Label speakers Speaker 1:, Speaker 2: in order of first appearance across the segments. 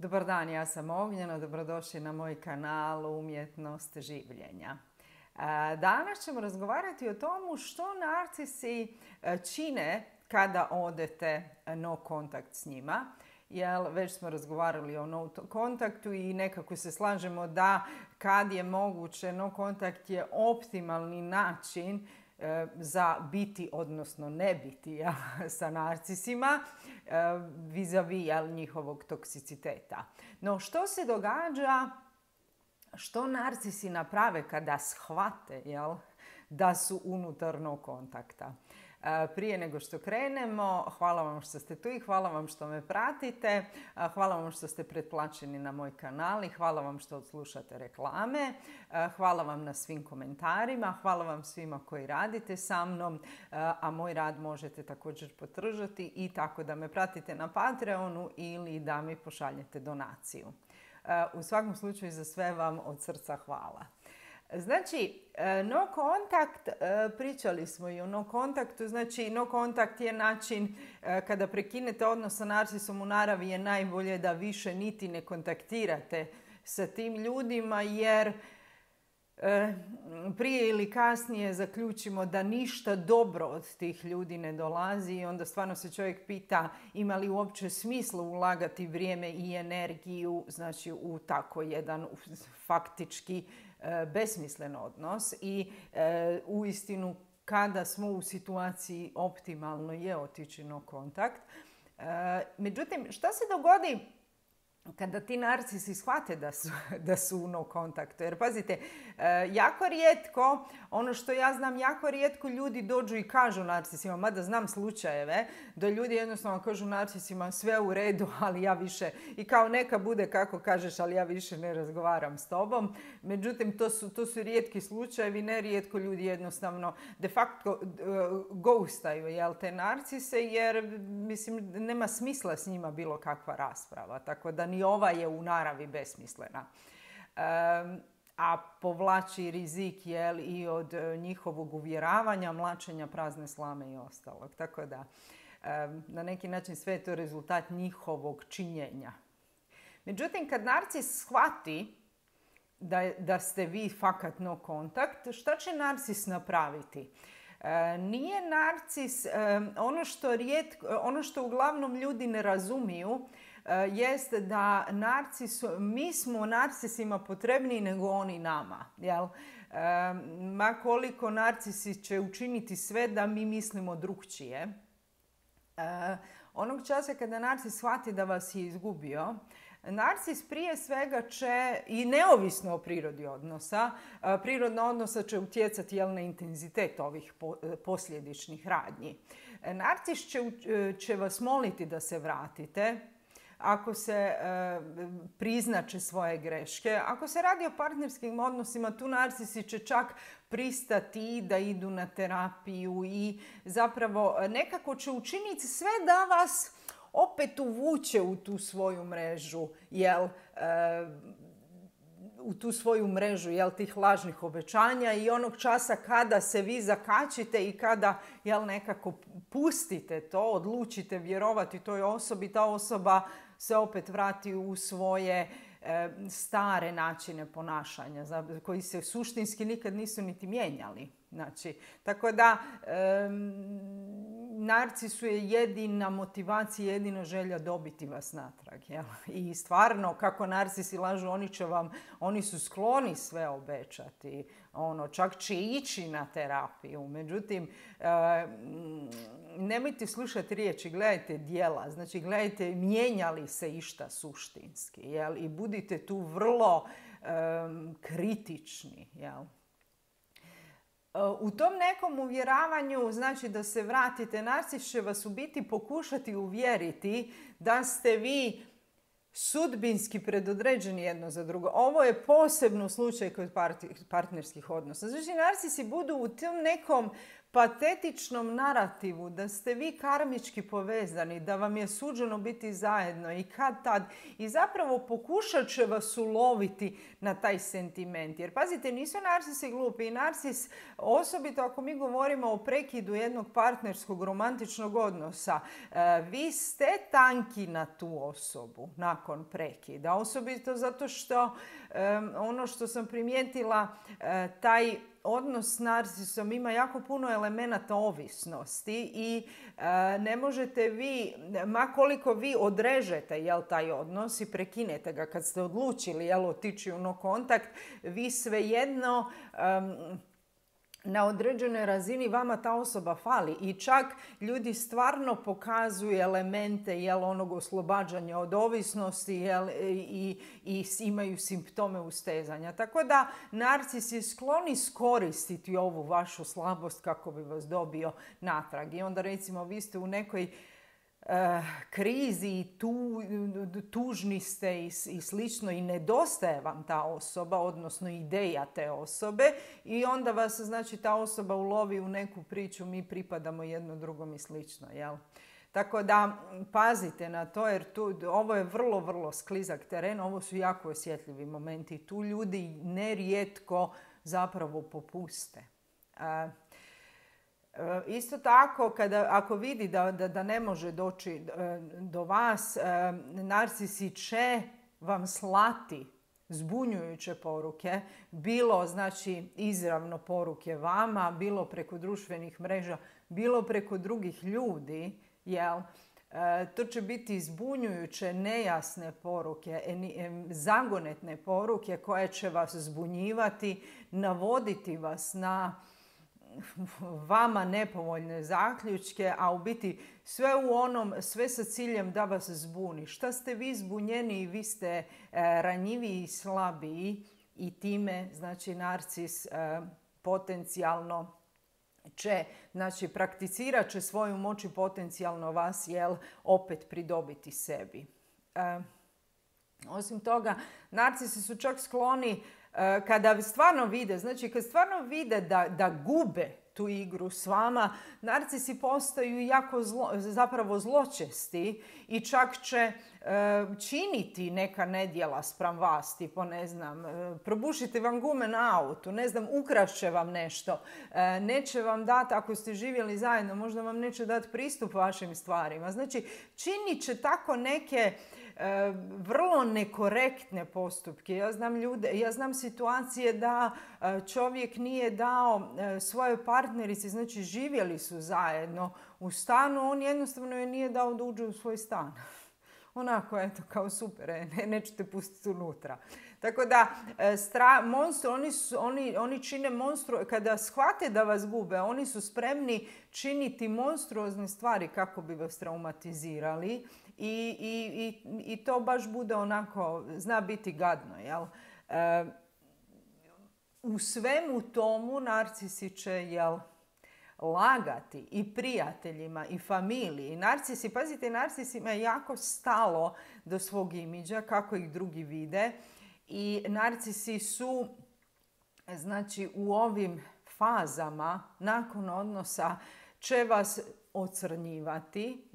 Speaker 1: Dobar dan, ja sam Ognjena, dobrodošli na moj kanal Umjetnost življenja. Danas ćemo razgovarati o tomu što narcisi čine kada odete no kontakt s njima. Jer već smo razgovarali o no kontaktu i nekako se slažemo da kad je moguće no kontakt je optimalni način za biti, odnosno ne biti sa narcisima vis-a-vis njihovog toksiciteta. No što se događa, što narcisi naprave kada shvate da su unutar no kontakta? Prije nego što krenemo, hvala vam što ste tu i hvala vam što me pratite. Hvala vam što ste pretplaćeni na moj kanal i hvala vam što odslušate reklame. Hvala vam na svim komentarima. Hvala vam svima koji radite sa mnom, a moj rad možete također podržati i tako da me pratite na Patreonu ili da mi pošaljete donaciju. U svakom slučaju za sve vam od srca hvala. Znači, no kontakt, pričali smo i o no kontaktu, znači no kontakt je način kada prekinete odnos sa narcisom u naravi je najbolje da više niti ne kontaktirate sa tim ljudima jer prije ili kasnije zaključimo da ništa dobro od tih ljudi ne dolazi i onda stvarno se čovjek pita ima li uopće smisla ulagati vrijeme i energiju znači u tako jedan faktički besmislen odnos i uistinu kada smo u situaciji optimalno je otići no kontakt. Međutim, šta se dogodi kada ti narcisi shvate da su u no kontaktu? Jer pazite, jako rijetko, ono što ja znam, jako rijetko ljudi dođu i kažu narcisima, mada znam slučajeve, da ljudi jednostavno kažu narcisima sve u redu, ali ja više, i kao neka bude kako kažeš, ali ja više ne razgovaram s tobom. Međutim, to su rijetki slučajevi, nerijetko ljudi jednostavno de facto ghostaju te narcise, jer mislim nema smisla s njima bilo kakva rasprava, tako da ni ova je u naravi besmislena. A povlači rizik i od njihovog uvjeravanja, mlačenja prazne slame i ostalog. Tako da na neki način sve je to rezultat njihovog činjenja. Međutim, kad narcis shvati da ste vi fakat no kontakt, šta će narcis napraviti? Nije narcis, ono što uglavnom ljudi ne razumiju, jeste da mi smo narcisima potrebniji nego oni nama. Jel? Ma koliko narcisi će učiniti sve da mi mislimo drukčije. Onog časa kada narcis shvati da vas je izgubio, narcis prije svega će, i neovisno o prirodi odnosa, prirodna odnosa će utjecati na intenzitet ovih posljedičnih radnji. Narcis će vas moliti da se vratite, ako se priznaće svoje greške. Ako se radi o partnerskim odnosima, tu narcisi će čak pristati da idu na terapiju i zapravo nekako će učiniti sve da vas opet uvuče u tu svoju mrežu, tih lažnih obećanja i onog časa kada se vi zakačite i kada nekako pustite to, odlučite vjerovati toj osobi, ta osoba se opet vrati u svoje stare načine ponašanja koji se suštinski nikad nisu niti mijenjali. Znači, tako da narcisu je jedina motivacija, jedina želja dobiti vas natrag. Jel? I stvarno, kako narcisi lažu, oni su skloni sve obećati. Čak će ići na terapiju. Međutim, nemojte slušati riječi, gledajte djela. Znači, gledajte mijenja li se išta suštinski. Jel? I budite tu vrlo kritični. Jel? U tom nekom uvjeravanju, znači da se vratite, narcis će vas u biti pokušati uvjeriti da ste vi sudbinski predodređeni jedno za drugo. Ovo je posebno slučaj kod partnerskih odnosa. Znači, narcisi budu u tom nekom patetičnom narativu da ste vi karmički povezani, da vam je suđeno biti zajedno i kad tad. I zapravo pokušat će vas uloviti na taj sentiment. Jer pazite, nisu narcisi glupi. I narcis, osobito ako mi govorimo o prekidu jednog partnerskog romantičnog odnosa, vi ste tanki na tu osobu nakon prekida. Osobito zato što ono što sam primijetila, taj odnos s narcisom ima jako puno elemenata ovisnosti i ne možete vi, ma koliko vi odrežete taj odnos i prekinete ga kad ste odlučili otići u no kontakt, vi svejedno na određenoj razini vama ta osoba fali i čak ljudi stvarno pokazuju elemente onog oslobađanja od ovisnosti i imaju simptome ustezanja. Tako da narcis je sklon iskoristiti ovu vašu slabost kako bi vas dobio natrag. I onda recimo vi ste u nekoj krizi i tužni ste i slično i nedostaje vam ta osoba, odnosno ideja te osobe i onda vas znači ta osoba ulovi u neku priču, mi pripadamo jedno drugom i slično, jel? Tako da pazite na to jer ovo je vrlo, vrlo sklizak teren, ovo su jako osjetljivi momenti. Tu ljudi nerijetko zapravo popuste. Isto tako, ako vidi da ne može doći do vas, narcisi će vam slati zbunjujuće poruke, bilo znači izravno poruke vama, bilo preko društvenih mreža, bilo preko drugih ljudi, jel? To će biti zbunjujuće, nejasne poruke, zagonetne poruke koje će vas zbunjivati, navoditi vas na vama nepovoljne zaključke, a u biti sve sa ciljem da vas zbuni. Šta ste vi zbunjeni, vi ste ranjiviji i slabiji i time, znači, narcis potencijalno će, znači, prakticirat će svoju moć i potencijalno vas, opet pridobiti sebi. Osim toga, narcisi su čak skloni kada stvarno vide, znači kad stvarno vide da gube tu igru s vama, narcisi postaju jako zapravo zločesti i čak će činiti neka nedjela spram vas, tipo ne znam, probušiti vam gume na autu, ne znam, ukrašće vam nešto, neće vam dati, ako ste živjeli zajedno, možda vam neće dati pristup vašim stvarima. Znači, činit će tako neke vrlo nekorektne postupke. Ja znam situacije da čovjek nije dao svojoj partnerici, znači živjeli su zajedno u stanu, on jednostavno je nije dao da uđe u svoj stan. Onako, eto, kao super, nećete pustiti unutra. Tako da, oni čine monstru, kada shvate da vas gube, oni su spremni činiti monstruozne stvari kako bi vas traumatizirali i to baš bude onako, zna biti gadno, jel? U svemu tomu narcisi će, lagati i prijateljima i familiji. Narcisi, pazite, narcisima je jako stalo do svog imidža, kako ih drugi vide. I narcisi su, znači, u ovim fazama nakon odnosa će vas ocrnjivati,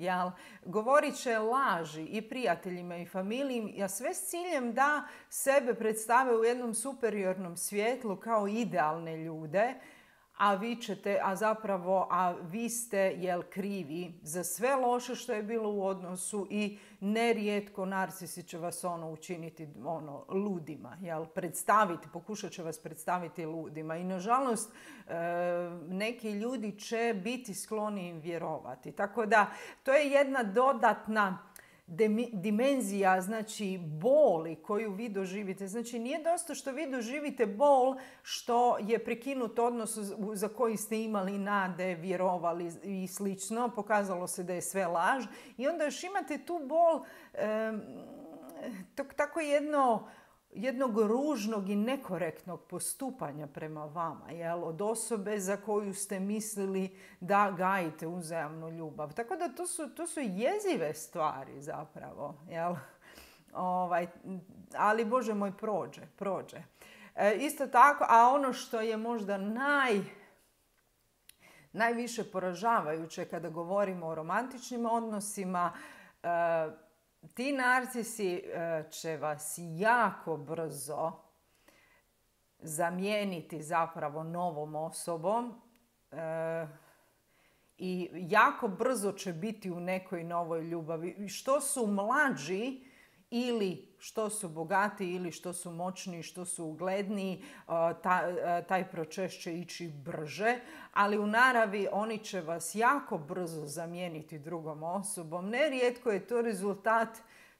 Speaker 1: govorit će laži i prijateljima i familiji, a sve s ciljem da sebe predstave u jednom superiornom svjetlu kao idealne ljude, a vi ste krivi za sve loše što je bilo u odnosu i nerijetko narcisi će vas učiniti ludima, pokušat će vas predstaviti ludima i nažalost neki ljudi će biti skloni im vjerovati. Tako da to je jedna dodatna dimenzija, znači, boli koju vi doživite. Znači, nije dosta što vi doživite bol što je prekinut odnos za koji ste imali nade, vjerovali i slično. Pokazalo se da je sve laž. I onda još imate tu bol tako jednog ružnog i nekorektnog postupanja prema vama, od osobe za koju ste mislili da gajite uzajamnu ljubav. Tako da to su jezive stvari zapravo, ali Bože moj, prođe. Isto tako, a ono što je možda najviše poražavajuće kada govorimo o romantičnim odnosima, ti narcisi će vas jako brzo zamijeniti zapravo novom osobom i jako brzo će biti u nekoj novoj ljubavi. Što su mlađi ili što su bogati ili što su moćni, što su ugledniji, taj proces će ići brže, ali u naravi oni će vas jako brzo zamijeniti drugom osobom. Nerijetko je to rezultat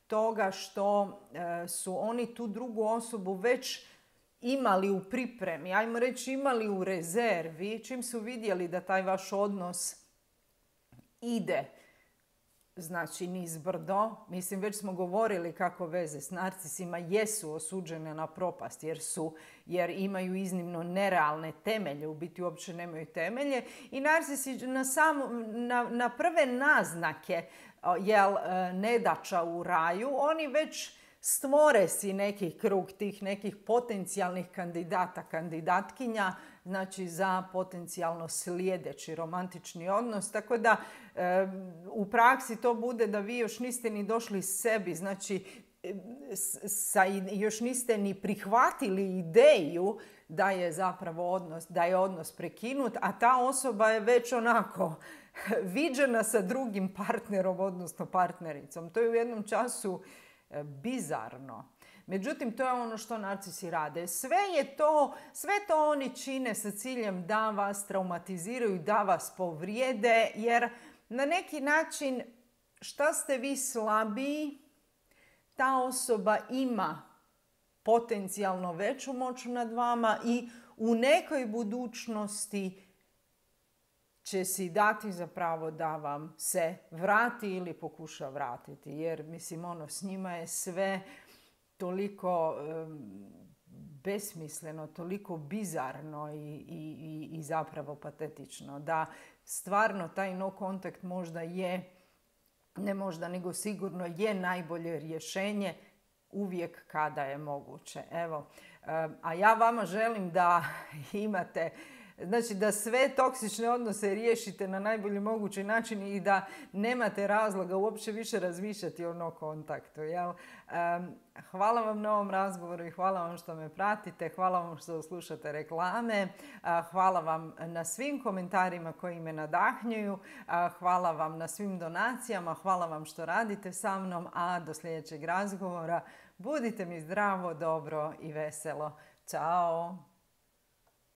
Speaker 1: toga što su oni tu drugu osobu već imali u pripremi, ajmo reći imali u rezervi, čim su vidjeli da taj vaš odnos ide znači nizbrdo. Mislim, već smo govorili kako veze s narcisima jesu osuđene na propast jer imaju iznimno nerealne temelje, u biti uopće nemaju temelje. I narcisi na prve naznake nedaća u raju, oni već stvore si neki krug tih nekih potencijalnih kandidata, kandidatkinja, znači za potencijalno sljedeći romantični odnos. Tako da u praksi to bude da vi još niste ni došli sebi, znači još niste ni prihvatili ideju da je zapravo odnos prekinut, a ta osoba je već onako viđena sa drugim partnerom, odnosno partnericom. To je u jednom času bizarno. Međutim, to je ono što narcisi rade. Sve to oni čine sa ciljem da vas traumatiziraju, da vas povrijede, jer na neki način šta ste vi slabiji, ta osoba ima potencijalno veću moć nad vama i u nekoj budućnosti će si dati za pravo da vam se vrati ili pokuša vratiti. Jer, mislim, s njima je sve toliko besmisleno, toliko bizarno i zapravo patetično, da stvarno taj no kontakt možda je, ne možda, nego sigurno je najbolje rješenje uvijek kada je moguće. Evo, a ja vama želim da imate, znači da sve toksične odnose riješite na najbolji mogući način i da nemate razloga uopće više razmišljati o no kontaktu. Jel? Hvala vam na ovom razgovoru i hvala vam što me pratite, hvala vam što slušate reklame, hvala vam na svim komentarima koji me nadahnjuju, hvala vam na svim donacijama, hvala vam što radite sa mnom, a do sljedećeg razgovora budite mi zdravo, dobro i veselo. Ćao!